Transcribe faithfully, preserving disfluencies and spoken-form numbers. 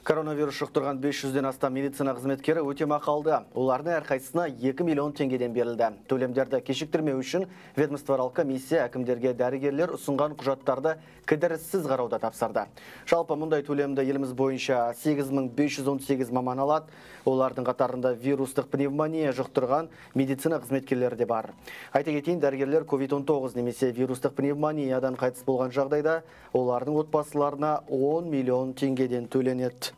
Коронавирус жұқтырған бес жүзден астам медицина қызметкері өтемақы алды. Олардың әрқайсысына екі миллион теңгеден берілді. Төлемдерді кешіктірмеу үшін ведомствоаралық комиссия әкімдерге дәрігерлер ұсынған құжаттарды кідіріссіз қарауда тапсырды. Жалпы мұндай төлемді еліміз бойынша сегіз мың бес жүз он сегіз маман алады. Олардың қатарында вирустық пневмония жұқтырған медицина қызметкерлері де бар. Айта кетейін, дәрігерлер ковид он тоғыз немесе вирустық пневмониядан қайтыс болған жағдайда олардың отбасыларына он миллион теңгеден төленеді.